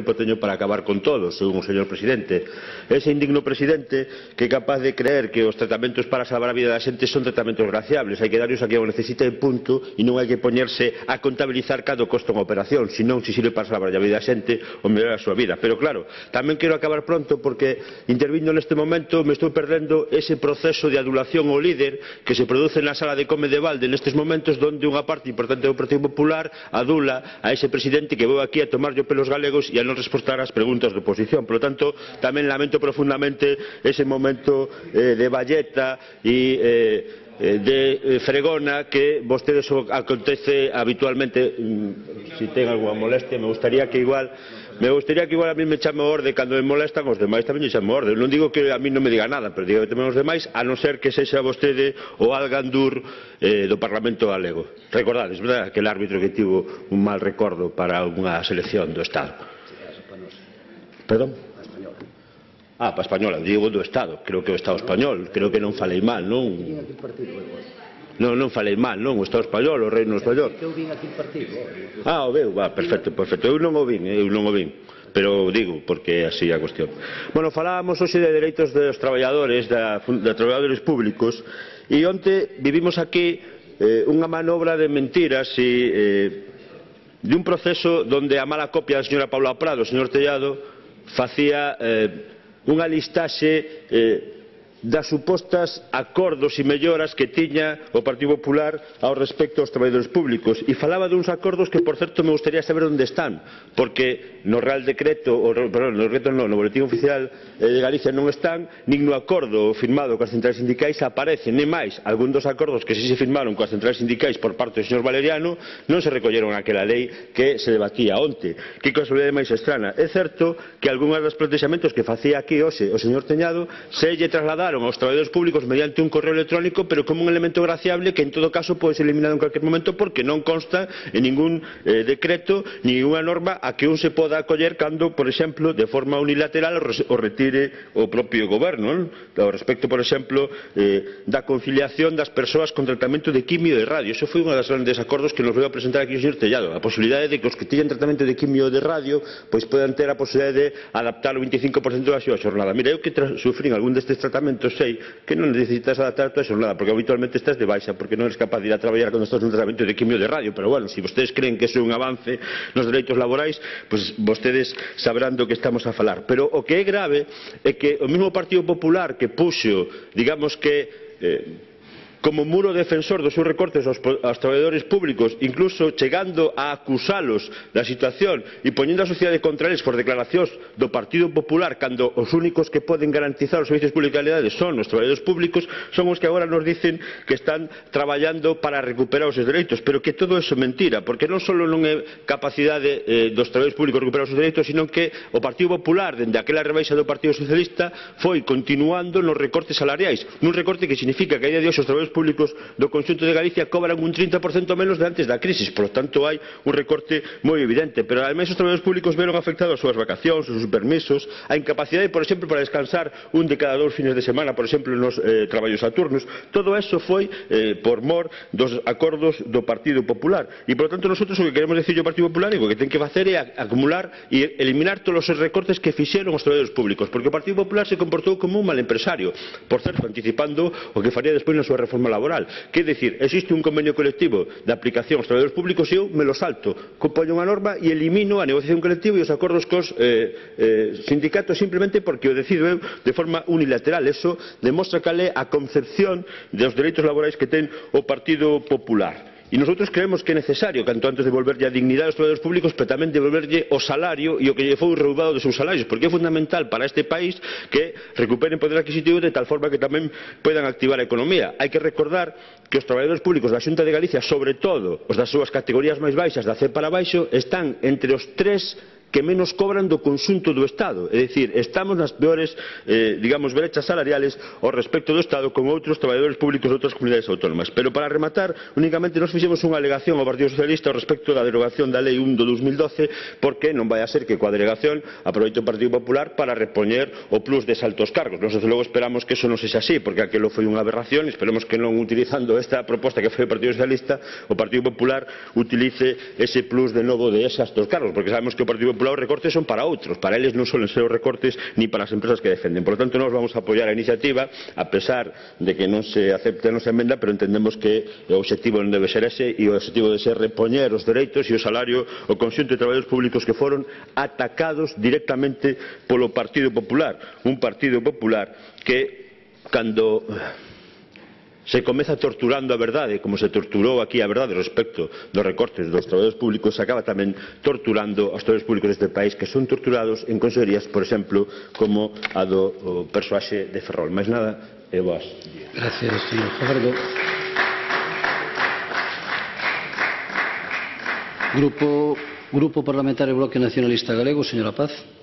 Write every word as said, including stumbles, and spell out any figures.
tempo teño para acabar con todo, según o señor presidente. Ese indigno presidente que é capaz de creer que os tratamentos para salvar a vida da xente son tratamentos graciables, hai que darlos a que o necesita en punto e non hai que poñerse a contabilizar cada costo unha operación, senón se sirve para salvar a vida da xente ou mellorar a súa vida. Pero claro, tamén quero acabar pronto porque intervindo neste momento me estou perdendo ese proceso de adulación ao líder que se produce na sala de come de balde nestes momentos, donde unha parte importante do Partido Popular adula a ese presidente que veu aquí a tomarlle pelos galegos e a non responder ás preguntas da oposición. Por lo tanto, tamén lamento profundamente ese momento eh, de valleta e eh, de fregona que vostedes acontece habitualmente. Si ten alguna molestia, me gustaría que igual me gustaría que igual a mí me chame orde cando me molestan, os demais tamén me chame orde. Non digo que a mí non me diga nada, pero digo que tamén os demais, a non ser que sexa vostede o Algandur eh, do Parlamento galego. Recordades, verdad, que el árbitro que tivo un mal recordo para unha selección do Estado. Perdón? Ah, para a española, digo do Estado, creo que o Estado español, creo que non falei mal, non? Non, non falei mal, non, o Estado español, o Reino español. Eu vin aquí o partido. Ah, o veu, va, perfecto, perfecto. Eu non o vin, eu non o vin, pero digo, porque así é a cuestión. Bueno, falábamos hoxe de dereitos dos traballadores, de, de traballadores públicos, e onte vivimos aquí eh, unha manobra de mentiras e eh, de un proceso donde a mala copia da señora Paula Prado, o señor Tellado, facía eh, unha listaxe eh, das supostas acordos e melloras que tiña o Partido Popular ao respecto aos traballadores públicos, e falaba duns acordos que, por certo, me gustaría saber onde están, porque no Real Decreto, o, perdón, no Decreto non, no Boletín Oficial de Galicia non están, nin no acordo firmado coas centrais sindicais aparecen, nem máis, algún dos acordos que si se firmaron coas centrais sindicais por parte do señor Valeriano non se recolleron aquela lei que se debatía onte. Que casualidade máis estrana. É certo que algúns dos plantexamentos que facía aquí hoxe o señor Teñado se lle trasladaron aos traballadores públicos mediante un correo electrónico, pero como un elemento graciable que en todo caso pode ser eliminado en cualquier momento, porque non consta en ningún eh, decreto ni ninguna norma a que un se poda acoller cando, por exemplo, de forma unilateral o retire o propio goberno, non? Ao respecto, por exemplo, eh, da conciliación das persoas con tratamento de quimio e de radio. Eso foi un dos grandes acordos que nos veio a presentar aquí o señor Tellado, a posibilidade de que os que tiñan tratamento de quimio e de radio pois podan ter a posibilidade de adaptar o veinticinco por ciento da súa xornada. Mira, eu que sufrín algún destes tratamentos sei que non necesitas adaptar a tua xornada, porque habitualmente estás de baixa porque non eres capaz de ir a traballar cando estás nun tratamento de quimio de radio. Pero bueno, se si vostedes creen que iso é un avance nos dereitos laborais, pois vostedes sabrán do que estamos a falar. Pero o que é grave é que o mesmo Partido Popular que puxo, digamos que eh, como muro defensor dos seus recortes aos, aos traballadores públicos, incluso chegando a acusalos da situación e poñendo a sociedade contra eles por declaracións do Partido Popular, cando os únicos que poden garantizar os servicios públicos de calidade son os traballadores públicos, son os que agora nos dicen que están traballando para recuperar os seus dereitos. Pero que todo eso é mentira, porque non só non é capacidade eh, dos traballadores públicos recuperar os seus dereitos, sino que o Partido Popular, dende aquela rebaixa do Partido Socialista, foi continuando nos recortes salariais, nun recorte que significa que a día de hoxe os traballadores públicos do conxunto de Galicia cobran un trinta por cento menos de antes da crisis. Por lo tanto, hai un recorte moi evidente. Pero ademais os traballadores públicos veron afectados as súas vacacións, os seus permisos, a incapacidade, por exemplo, para descansar un de cada dous fines de semana, por exemplo, nos eh, traballos a turnos. Todo eso foi eh, por mor dos acordos do Partido Popular. E, por lo tanto, nosotros o que queremos decir ao Partido Popular é que o que ten que facer é acumular e eliminar todos os recortes que fixeron os traballadores públicos, porque o Partido Popular se comportou como un mal empresario, por certo, anticipando o que faría despois na súa reforma laboral. Que é dicir, existe un convenio colectivo de aplicación aos traballadores públicos e eu me lo salto, compoño unha norma e elimino a negociación colectiva e os acordos cos eh, eh, sindicatos simplemente porque o decido eu de forma unilateral. Eso demostra cal é a concepción dos dereitos laborais que ten o Partido Popular. E nosotros creemos que é necesario, canto antes, devolverlle a dignidade aos traballadores públicos, pero tamén devolverlle o salario e o que lle foi roubado dos seus salarios, porque é fundamental para este país que recuperen poder adquisitivo de tal forma que tamén poidan activar a economía. Hai que recordar que os traballadores públicos da Xunta de Galicia, sobre todo os das súas categorías máis baixas, da C para baixo, están entre os tres que menos cobran do conxunto do Estado. É dicir, estamos nas peores, eh, digamos, brechas salariales ao respecto do Estado con outros traballadores públicos de outras comunidades autónomas. Pero para rematar, únicamente nos fixemos unha alegación ao Partido Socialista ao respecto da derogación da Lei un do dos mil doce, porque non vai a ser que coa delegación aproveite o Partido Popular para repoñer o plus de altos cargos. Nós, desde logo, esperamos que eso non sexa así, porque aquilo foi unha aberración, e esperemos que non, utilizando esta proposta que foi o Partido Socialista, o Partido Popular utilice ese plus de novo de eses altos cargos, porque sabemos que o Partido Popular Popular os recortes son para outros, para eles non suelen ser os recortes ni para as empresas que defenden. Por lo tanto, nós vamos a apoiar a iniciativa, a pesar de que non se acepte a nosa emenda, pero entendemos que o obxectivo non debe ser ese, e o obxectivo debe ser repoñer os dereitos e o salario ao conxunto de traballadores públicos que foron atacados directamente polo Partido Popular, un Partido Popular que, cando se comeza torturando a verdade, como se torturou aquí a verdade respecto dos recortes dos traballadores públicos, se acaba tamén torturando aos traballadores públicos deste país, que son torturados en consejerías, por exemplo, como a do persoaxe de Ferrol. Mais nada, e boas. Gracias, señor Fajardo. Grupo, Grupo Parlamentario Bloque Nacionalista Galego, señora Paz.